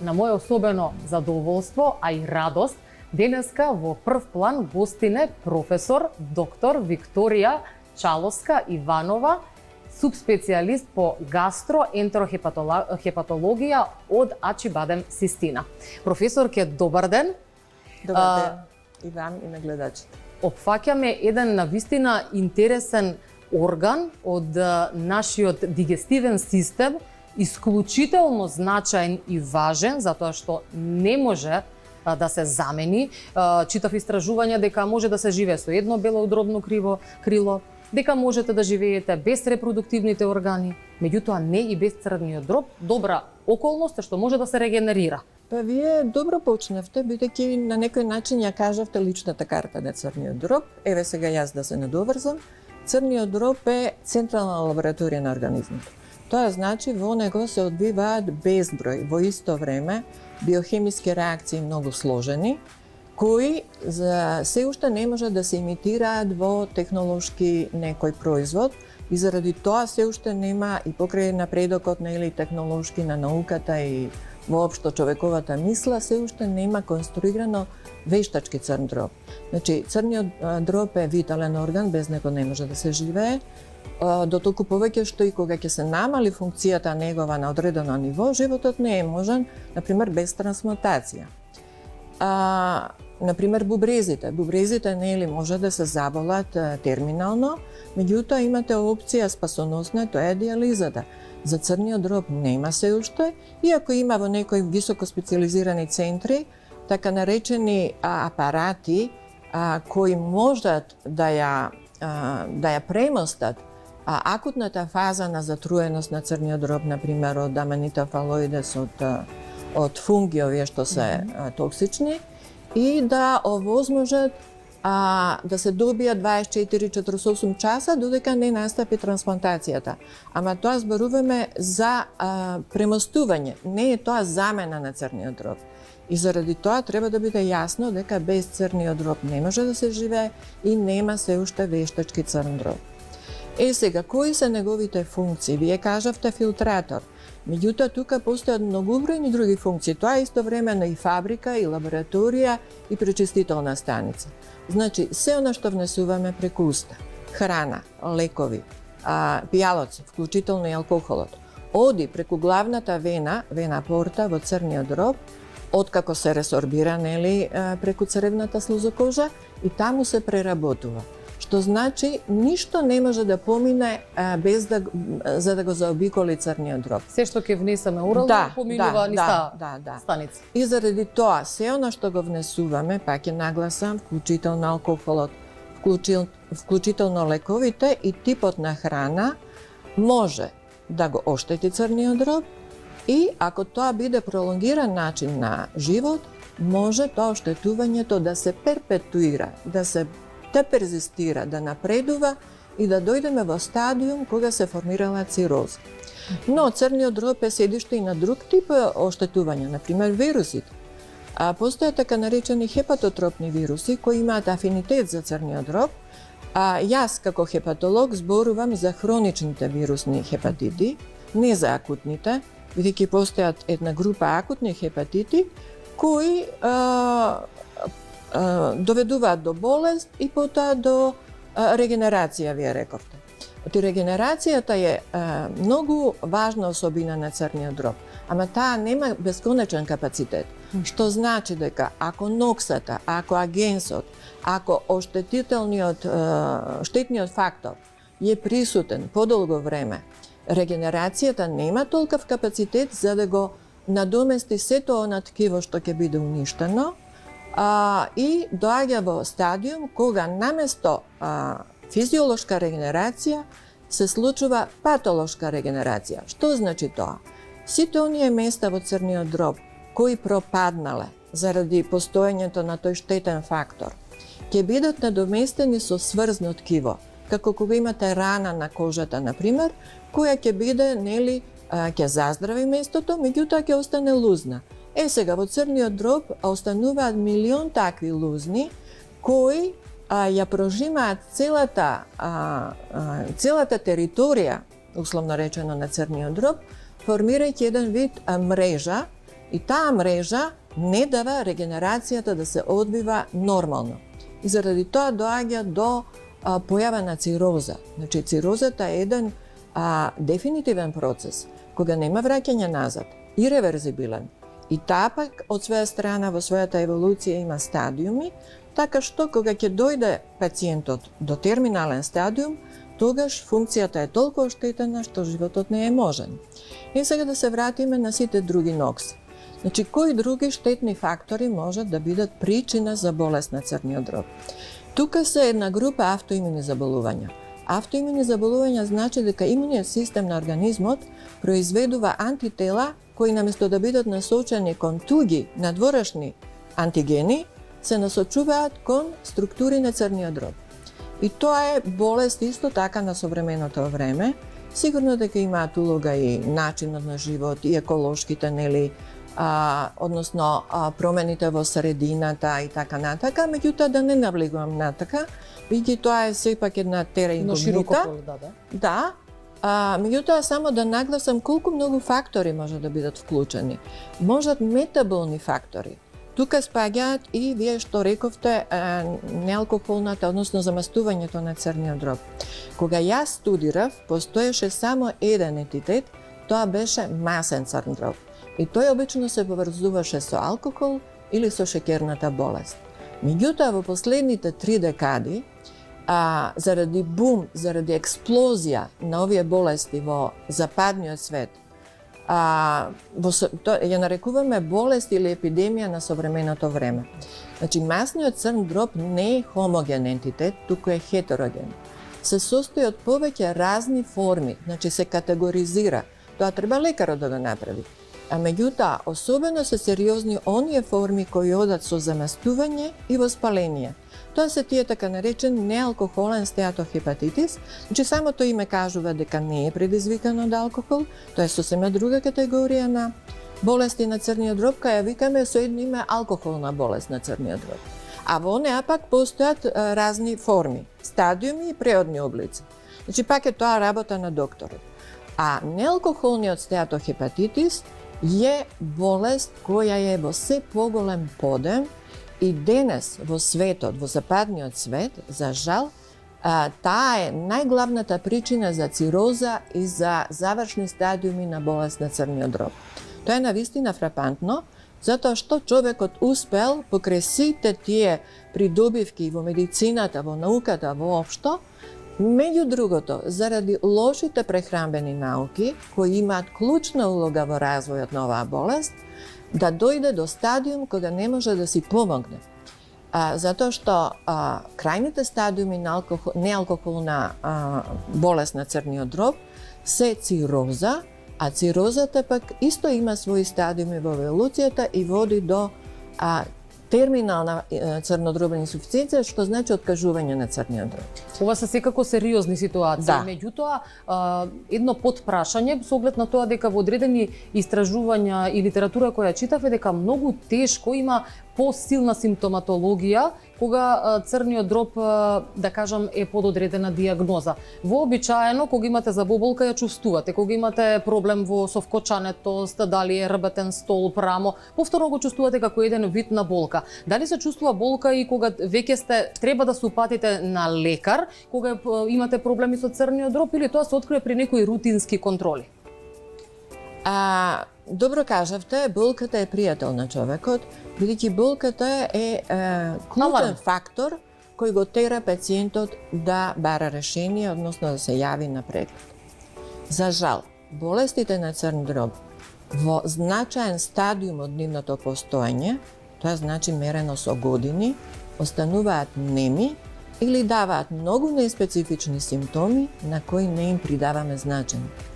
на моje особено задоволство, а и радост, денеска во прв план гостине професор доктор Викторија Чаловска Иванова, субспецијалист по гастроентерохепатологија од Ачибадем Систина. Професорке, добар ден. Добар ден и вам и на гледачите. Опфаќаме еден навистина интересен орган од нашиот дигестивен систем, исклучително значаен и важен, затоа што не може да се замени. Читав истражувања дека може да се живее со едно белоудробно крило, дека можете да живеете без репродуктивните органи, меѓутоа не и без црниот дроб. Добра околност е што може да се регенерира. Па вие добро почнавте, бидејќи на некој начин ја кажавте личната карта на црниот дроб. Еве сега јас да се надоврзам. Црниот дроб е централна лабораторија на организмот. Тоа значи во него се одвиваат безброј во исто време биохемиски реакции многу сложени, кои се уште не може да се имитираат во технолошки некој производ и заради тоа се уште нема и покрај напредокот на технолошки на науката и воопшто човековата мисла, се уште нема конструирано вештачки црн дроб. Значи, црниот дроб е витален орган, без него не може да се живее, дотолку повеќе што и кога ќе се намали функцијата негова на одредено ниво, животот не е можен, например, без трансмутација. Например, бубрезите. Бубрезите нели може да се заболат терминално, меѓутоа имате опција спасоносна, тоа е диализата. За црниот дроб нема се уште, иако има во некои високо специализирани центри, така наречени апарати кои можат да ја премостат акутната фаза на затруеност на црниот дроб, например, од Amanita phalloides, од фунги овие што се токсични, и да овозможат да се добијат 24-48 часа додека не настапи трансплантацијата. Ама тоа зборуваме за премостување, не е тоа замена на црниот дроб. И заради тоа треба да биде јасно дека без црниот дроб не може да се живее и нема се уште вештачки црн дроб. Сега, кои се неговите функции? Вие кажавте филтратор. Меѓутоа, тука постојат многубројни други функции. Тоа е истовремено и фабрика, и лабораторија, и пречистителна станица. Значи, се она што внесуваме преку уста, храна, лекови, пијалоци, вклучително и алкохолот, оди преку главната вена порта во црниот дроб, откако се ресорбира преку цревната слузокожа и таму се преработува. Што значи, ништо не може да помине без за да го заобиколи црниот дроб. Се што ќе внесеме орално поминува низ станица. И заради тоа, се она што го внесуваме, пак ќе нагласам, вклучително алкохолот, вклучително лековите и типот на храна, може да го оштети црниот дроб и ако тоа биде пролонгиран начин на живот, може тоа оштетувањето да се перпетуира, да перзистира, да напредува и да дојдеме во стадиум кога се формирала цироза. Но црниот дроб е седиште и на друг тип оштетување, например вирусите. Постојат така наречени хепатотропни вируси кои имаат афинитет за црниот дроб. Јас како хепатолог зборувам за хроничните вирусни хепатити, не за акутните, бидејќи постојат една група акутни хепатити кои доведуваат до болест и потоа до регенерација, вие рековте. Регенерацијата е многу важна особина на црниот дроб, ама таа нема бесконечен капацитет, што значи дека ако ноксата, ако агенсот, ако штетниот фактор е присутен подолго време, регенерацијата нема толков капацитет за да го надомести сето она ткиво што ќе биде уништено, и доаѓа во стадиум кога наместо физиолошка регенерација се случува патолошка регенерација. Што значи тоа? Сите оние места во црниот дроб кои пропаднале заради постоењето на тој штетен фактор, ќе бидат надоместени со сврзно ткиво, како кога имате рана на кожата, например, која ќе биде, ќе заздрави местото, меѓутоа ќе остане лузна. Сега во црниот дроб остануваат милион такви лузни кои ја прожимаат целата територија, условно речено, на црниот дроб, формирајќи еден вид мрежа И таа мрежа не дава регенерацијата да се одвива нормално. И заради тоа доаѓа до појава на цироза. Значи, цирозата е еден дефинитивен процес, кога нема враќање назад, иреверзибилен. И таа пак, од своја страна, во својата еволуција има стадиуми, така што кога ќе дојде пациентот до терминален стадиум, тогаш функцијата е толку оштетена што животот не е можен. И сега да се вратиме на сите други нокси. Значи, кои други штетни фактори можат да бидат причина за болест на црниот дроб? Тука се една група автоимуни заболувања. Автоимуни заболувања значи дека имуниот систем на организмот произведува антитела кои наместо да бидат насочени кон туги надворешни антигени, се насочуваат кон структури на црниот дроб. И тоа е болест исто така на современото време. Сигурно дека имаат улога и начинот на живот, и еколошките, нели, односно промените во средината и така натака, меѓутоа да не навлегувам натака, бидејќи тоа е сепак една тера инкогнита. Да. Меѓутоа само да нагласам колку многу фактори може да бидат вклучени. Можат метаболни фактори. Тука спаѓаат и вие што рековте неалкохолната, односно замастувањето на црниот дроб. Кога јас студирав, постоеше само еден етитет, тоа беше масен црн дроб. И тој обично се поврзуваше со алкохол или со шеќерната болест. Меѓутоа, во последните 3 декади, заради бум, заради експлозија на овие болести во западниот свет, ја нарекуваме болест или епидемија на современото време. Значи, масниот црн дроб не е хомоген ентитет, туку е хетероген. Се состои од повеќе разни форми, значи се категоризира. Тоа треба лекарот да го направи. А меѓутоа, особено се сериозни оние форми кои одат со замастување и воспаление. Тоа се тие така наречен неалкохолен стеатохепатитис, значи самото име кажува дека не е предизвикано од алкохол, тоа е сосема друга категорија на болести на црниот дроб, каја викаме со едно име алкохолна болест на црниот дроб. А во неа пак постојат разни форми, стадиуми и преодни облици. Значи пак е тоа работа на докторот. А неалкохолниот стеатохепатитис е болест која е во се поголем подем и денес во светот, во западниот свет, за жал, таа е најглавната причина за цироза и за завршни стадиуми на болест на црниот дроб. Тоа е навистина фрапантно, затоа што човекот успел покрај сите тие придобивки во медицината, во науката воопшто, меѓу другото, заради лошите прехранбени науки, кои имаат клучна улога во развојот на оваа болест, да дојде до стадиум кога не може да си помогне. Затоа што крајните стадиуми на неалкохолна болест на црниот дроб се цироза, а цирозата пак исто има своји стадиуми во еволуцијата и води до терминална црнодробна инсуфициенција, што значи откажување на црниот дроб. Ова се секако сериозни ситуации. Да. Меѓутоа, едно подпрашање со оглед на тоа дека во одредени истражувања и литература која читав е дека многу тешко има посилна симптоматологија кога црниот дроб, да кажам, е пододредена диагноза. Вообичаено, кога имате забоболка, ја чувствувате. Кога имате проблем со вкочането, дали е рбетен столб, рамо, повторно го чувствувате како еден вид на болка. Дали се чувствува болка и кога веќе треба да се упатите на лекар, кога имате проблеми со црниот дроб, или тоа се открие при некои рутински контроли? Добро кажавте, болката е пријател на човекот, бидејќи болката е клучен фактор кој го тера пациентот да бара решение, односно да се јави на преглед. За жал, болестите на црн дроб во значаен стадиум од нивното постоење, тоа значи мерено со години, остануваат неми или даваат многу неспецифични симптоми на кои не им придаваме значење.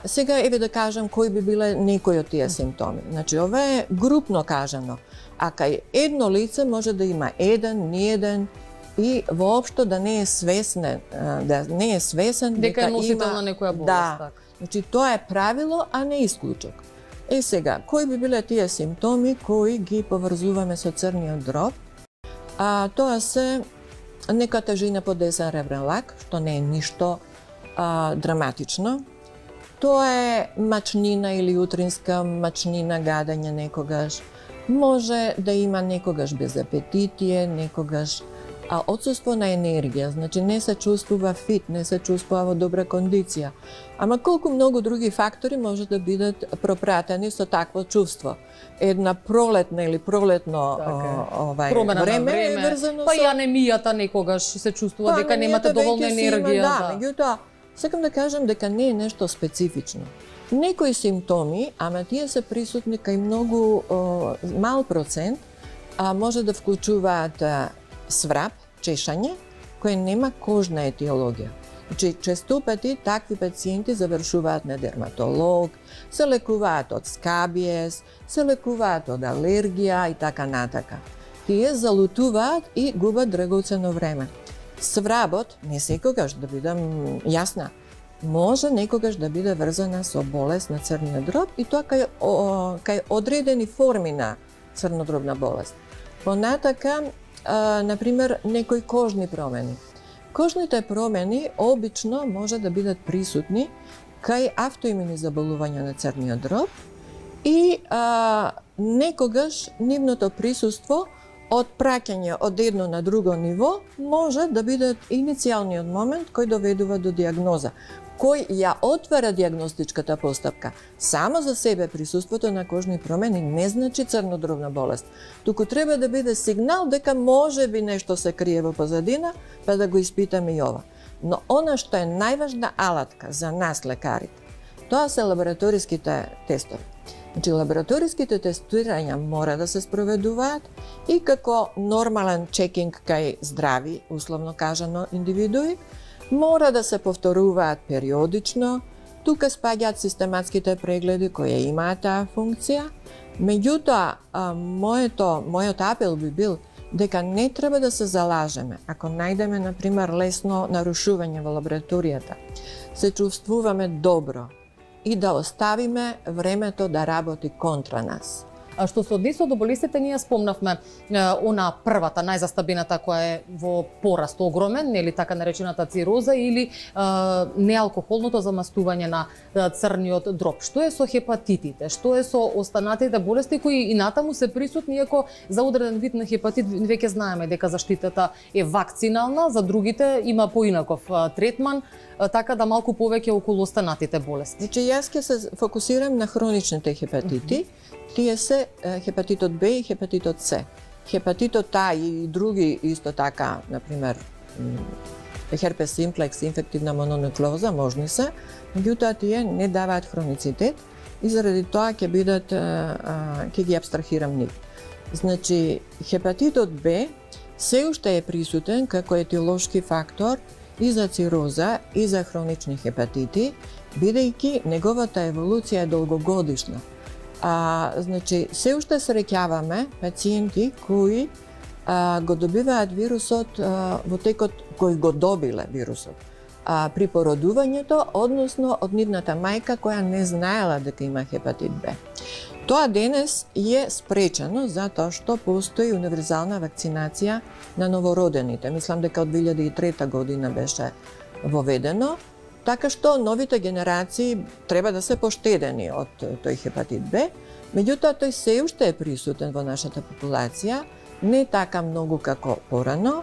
Сега еве да кажам кои би биле некои од тие симптоми. Значи, ова е групно кажано. А кај едно лице може да има еден, ниеден и воопшто да не е свесен, дека е носител на некоја болест. Да. Значи, тоа е правило, а не исклучок. Сега, кои би биле тие симптоми кои ги поврзуваме со црниот дроб? Тоа се нека тежина по десен ребрен лак, што не е ништо драматично. Тоа е мачнина или утринска мачнина, гадање некогаш. Може да има некогаш безапетитие, некогаш отсуство на енергија, значи не се чувствува фит, не се чувствува во добра кондиција. Ама колку многу други фактори може да бидат пропратени со такво чувство. Една пролетна или пролетно време е врзано со... Па и анемијата некогаш се чувствува дека немате доволно енергија. Да, меѓутоа, сакам да кажам дека не е нешто специфично. Некои симптоми, ама тие се присутни кај многу мал процент, може да вклучуваат сврап, чешање, кој нема кожна етиологија. Значи, често пати такви пациенти завршуваат на дерматолог, се лекуваат од скабиес, се лекуваат од алергија и така натака. Тие залутуваат и губат драгоцено време. Свработ, не секогаш, да бидам јасна, може некогаш да биде врзана со болест на црниот дроб и тоа кај одредени форми на црнодробна болест. Понатака, например, некои кожни промени. Кожните промени обично може да бидат присутни кај автоимуни заболувања на црниот дроб и некогаш нивното присуство од праќање од едно на друго ниво може да биде иницијалниот момент кој доведува до диагноза, кој ја отвара диагностичката постапка. Само за себе присуството на кожни промени не значи црнодробна болест, туку треба да биде сигнал дека може би нешто се крие во позадина, па да го испитаме и ова. Но она што е најважна алатка за нас лекарите, тоа се лабораториските тестови. Значи, лабораториските тестирања мора да се спроведуваат и како нормален чекинг кај здрави, условно кажано, индивидуи, мора да се повторуваат периодично, тука спаѓаат систематските прегледи кои имаат таа функција. Меѓутоа, мојот апел би бил дека не треба да се залажеме. Ако најдеме, например, лесно нарушување во лабораторијата, се чувствуваме добро и да оставиме времето да работи контра нас. А што се однесува до болестите, ние спомнавме она првата, најзастабената која е во пораст огромен, нели така наречената цироза или неалкохолното замастување на црниот дроб. Што е со хепатитите? Што е со останатите болести кои и натаму се присутни, иако за одреден вид на хепатит веќе знаеме дека заштитата е вакцинална, за другите има поинаков третман, така да малку повеќе околу останатите болести. Значи, јас ќе се фокусирам на хроничните хепатити. Тие се хепатитот Б и хепатитот С. Хепатитот А и други исто така, например, херпес симплекс, инфективна мононуклеоза, можни се, меѓутоа тие не даваат хроницитет и заради тоа ќе бидат, ќе ги абстрахирам нив. Значи, хепатитот Б се уште е присутен како етиолошки фактор и за цироза и за хронични хепатити, бидејќи неговата еволуција е долгогодишна. Значи, се уште среќаваме пациенти кои го добиваат вирусот во текот кој го добиле вирусот при породувањето, односно од нивната мајка која не знаела дека има хепатит Б. Тоа денес е спречено затоа што постои универзална вакцинација на новородените. Мислам дека од 2003 година беше воведено, така што новите генерации треба да се поштедени од тој хепатит Б, меѓутоа тој се уште е присутен во нашата популација, не така многу како порано,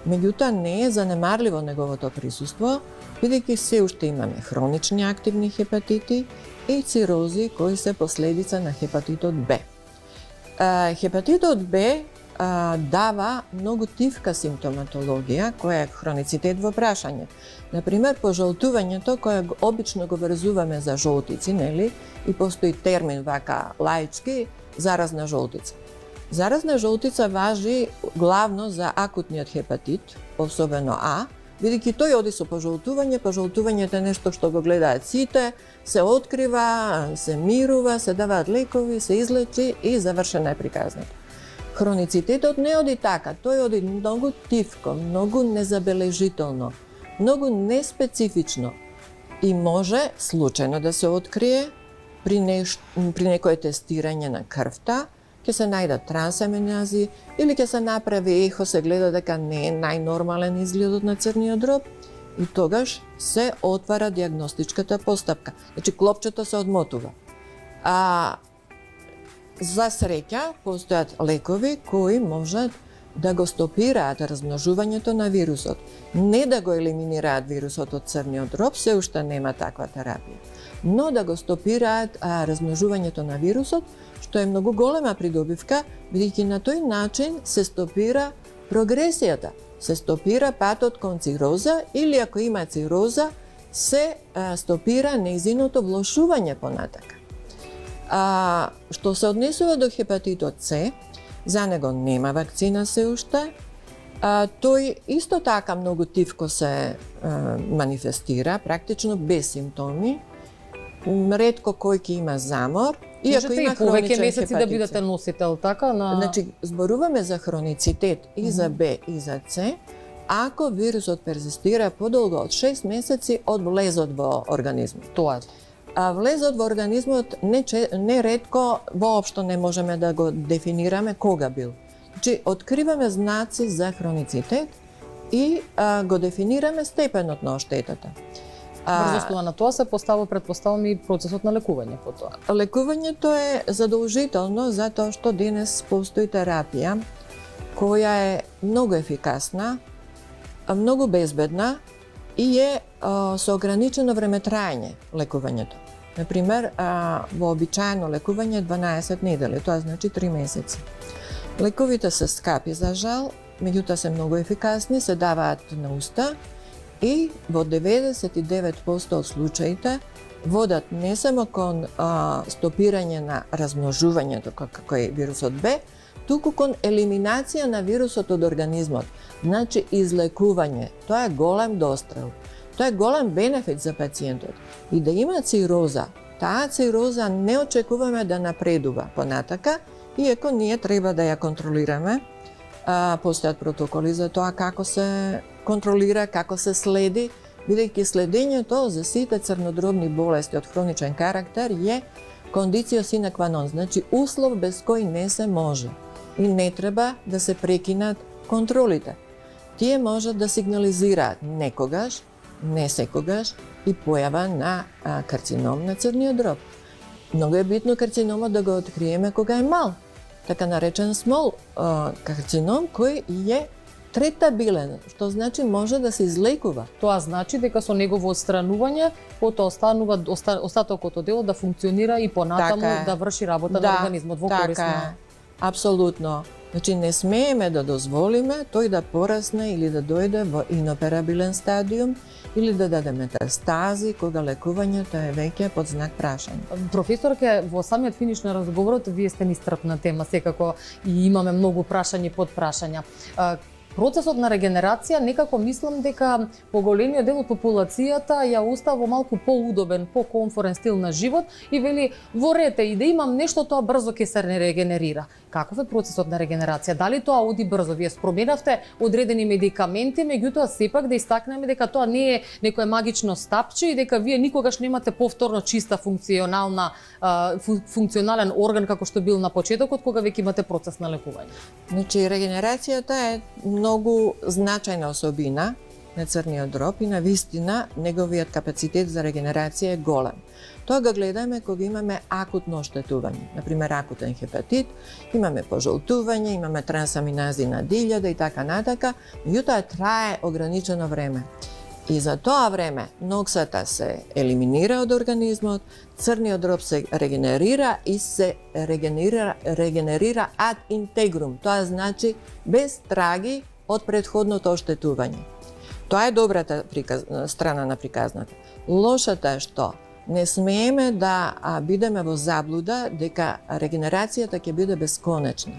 меѓутоа не е занемарливо неговото присуство, бидејќи се уште имаме хронични активни хепатити и цирози кои се последица на хепатитот Б. Хепатитот Б дава многу тивка симптоматологија, која е хроницитет во прашање. Например, пожолтувањето, кое обично го врзуваме за жолтици, нели? И постои термин вака лаички, заразна жолтица. Заразна жолтица важи главно за акутниот хепатит, особено А, бидејќи тој оди со пожолтување, пожолтувањето е нешто што го гледаат сите, се открива, се мирува, се даваат лекови, се излечи и завршена е приказната. Хроницитетот не оди така, тој оди многу тивко, многу незабележително, многу неспецифично и може случајно да се открие при некое тестирање на крвта, ќе се најдат трансаминази или ќе се направи ехо, се гледа дека не е најнормален изгледот на црниот дроб и тогаш се отвара диагностичката постапка. Значи клопчето се одмотува. За среќа постојат лекови кои можат да го стопираат размножувањето на вирусот. Не да го елиминираат вирусот од црниот дроб, се уште нема таква терапија, но да го стопираат размножувањето на вирусот, што е многу голема придобивка, бидејќи на тој начин се стопира прогресијата, се стопира патот кон цироза или ако има цироза, се стопира нејзиното влошување понатака. Што се однесува до хепатитот С, за него нема вакцина се уште. Тој исто така многу тивко се манифестира, практично без симптоми. Ретко кој ќе има замор. Можете и повеќе месеци да бидете носител, така? Значи, зборуваме за хроницитет и за Б и за С, ако вирусот перзистира подолго од 6 месеци од влезот во организмот. Тоа е. Влезот во организмот не ретко воопшто не можеме да го дефинираме кога бил. Значи, откриваме знаци за хроницитет и го дефинираме степенот на оштетата. Врз на тоа се предпоставам и процесот на лекување по тоа. Лекувањето е задолжително затоа што денес постои терапија која е многу ефикасна, многу безбедна и е со ограничено време траење лекувањето. Например, вообичаено лекување 12 недели, тоа значи 3 месеци. Лековите се скапи за жал, меѓутоа се многу ефикасни, се даваат на уста и во 99% од случаите водат не само кон стопирање на размножувањето како е вирусот Б, туку кон елиминација на вирусот од организмот. Значи излекување. Тоа е голем дострел. Тоа е голем бенефит за пациентот. И да има цироза, таа цироза не очекуваме да напредува понатака, иако ние треба да ја контролираме. Постојат протоколи за тоа како се контролира, како се следи, бидејќи следењето за сите црнодробни болести од хроничен карактер е кондицио sine qua non, значи услов без кој не се може и не треба да се прекинат контролите. Тие можат да сигнализираат некогаш, не секогаш и појава на карцином на црниот дроб. Многу е битно карциномот да го откриеме кога е мал, така наречен small карцином кој е третабилен, што значи може да се излекува. Тоа значи дека со негово отстранување потоа останува остатокот од делот да функционира и понатаму да врши работа на организмот во корист на... Апсолутно. Значи не смееме да дозволиме тој да порасне или да дојде во иноперабилен стадиум или да даде метастази кога лекувањето е веќе под знак прашање. Професорке, во самиот финиш на разговорот вие сте ниstrpна тема, секако и имаме многу прашања под прашања. Процесот на регенерација некако мислам дека поголемиот дел од популацијата ја остава во малку поудобен, покомфорен стил на живот и вели во рете и да имам нешто тоа брзо ќе се регенерира. Каков е процесот на регенерација? Дали тоа оди брзо? Вие споменавте одредени медикаменти, меѓутоа сепак да истакнеме дека тоа не е некое магично стапче и дека вие никогаш немате повторно чиста функционален орган како што бил на почетокот кога веќе имате процес на лекување. Значи регенерацијата е многу значајна особина на црниот дроб и на вистина неговиот капацитет за регенерација е голем. Тоа го гледаме кога имаме акутно оштетување, например акутен хепатит, имаме пожолтување, имаме трансаминази на дилјада и така натака, меѓутоа трае ограничено време. И за тоа време ноксата се елиминира од организмот, црниот дроб се регенерира и се регенерира ad integrum, тоа значи без траги од претходното оштетување. Тоа е добрата страна на приказната. Лошата е што не смееме да бидеме во заблуда дека регенерацијата ќе биде бесконечна.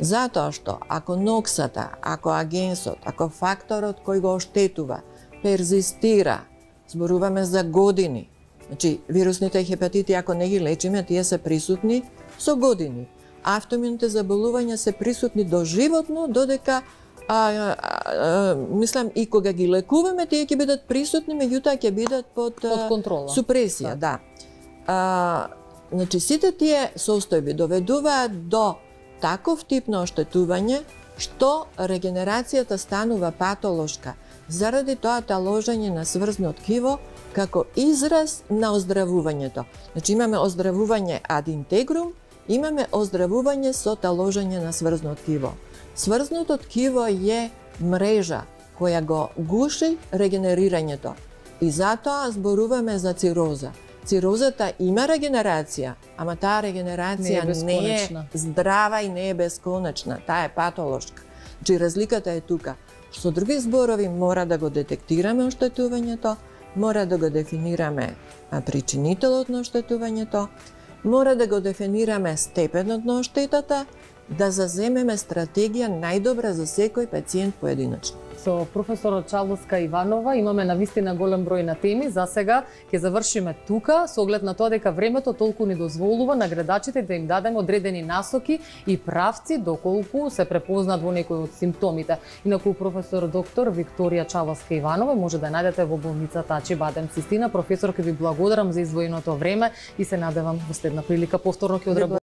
Затоа што ако ноксата, ако агенсот, ако факторот кој го оштетува перзистира, зборуваме за години. Значи, вирусните хепатити, ако не ги лечиме, тие се присутни со години. Автоимуните заболувања се присутни доживотно, додека мислам и кога ги лекуваме, тие ќе бидат присутни, меѓутоа ќе бидат под контрола. Супресија, да. Значи, сите тие состојби доведуваат до таков тип на оштетување што регенерацијата станува патолошка. заради тоа таложење на сврзно ткиво како израз на оздравувањето. Значи имаме оздравување ad integrum, имаме оздравување со таложење на сврзно ткиво. Сврзното ткиво е мрежа која го гуши регенерирањето. И затоа зборуваме за цироза. Цирозата има регенерација, ама таа регенерација не е здрава и не е бесконечна, таа е патолошка. Значи разликата е тука. Со други зборови мора да го детектираме оштетувањето, мора да го дефинираме причинителот на оштетувањето, мора да го дефинираме степенот на оштетата, да заземеме стратегија најдобра за секој пациент поединечно. Со професорот Чавоска Иванова имаме навистина голем број на теми. За сега ќе завршиме тука, со оглед на тоа дека времето толку ни дозволува на гледачите да им дадеме одредени насоки и правци доколку се препознат во некој од симптомите. Инаку професор доктор Викторија Чавоска Иванова може да најдете во болницата Ачибадем Систина. Професор, ќе ви благодарам за издвоеното време и се надевам во следна прилика повторно ќе одработиме.